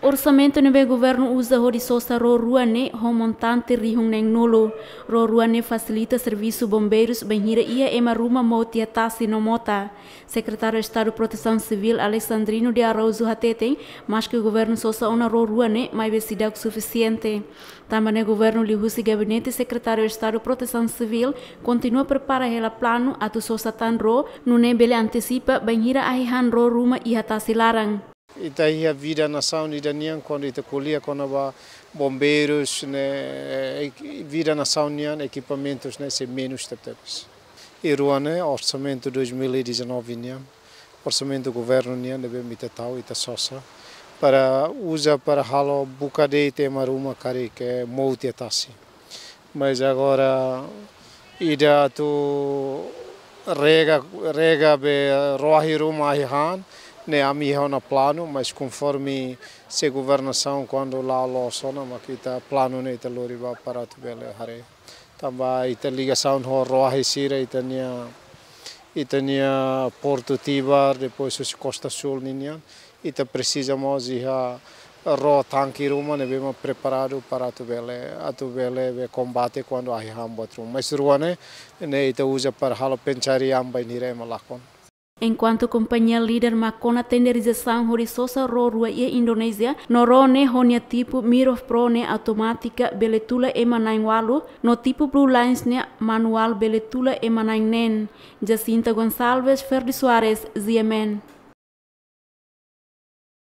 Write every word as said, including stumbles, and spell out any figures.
Orsamentu ne'ebé governu uza hodi sosa ró rua ne'e ho montante rihun neen-nulu. Ró rua ne'e fasilita servisu bombeirus bainhira iha ema ruma mout iha tasi no mota. Sekretáriu Estadu Protesaun Sivíl Alexandrino de Araújo hateten, maske governu sosa ona ró rua ne'e, maibé seidauk sufisiente. Tanba ne'e governu liuhusi Gabinete Sekretáriu Estadu Protesaun Sivíl kontinua prepara hela planu atu sosa tan ró, nune'e bele antesipa bainhira ahi han ró ruma iha tasi laran. Ita iha vida nasaun ida nian, kuandu ita ko'alia kona-ba bombeirus ne'e, eh, vida nasaun nian ekipamentus ne'e sei menus tebetebes. I rua ne'e orsamentu dois mil e dezanove nian, orsamentu governu nian ne'ebé mak ita tau, ita sosa para uza para halo buka de'it ema ruma karik mout iha tasi. Mas agora ida atu rega, rega be ró ahi ruma ahi han, ne'e ami iha ona planu, mas konforme se governasaun kuandu la loos ona, mak ita planu ne'e ita lori ba para atu bele haree. Tanba ita ligasaun ho ró ahi sira, ita-nia, ita-nia Portu Tibar, depois husi Kosta Súl ninian, ita presiza mós iha ró tanke ruma ne'ebé mak preparadu para atu bele, atu bele be kombate kuandu ahi han buat ruma. Mas rua ne'e, ne'e ita uza para halo pencarian bainhira ema lakon. Enkuantu kompañia líder mak kona tenderizasaun hodi sosa ró rua iha Indonézia, no ró ne'e ho nia tipu Mirov Pro ne'e automátika bele tula ema na'in-ualu, no tipu Blue Lines ne'e manuál bele tula ema na'in-neen. Jacinta Gonçalves, Ferdi Soares, G M N.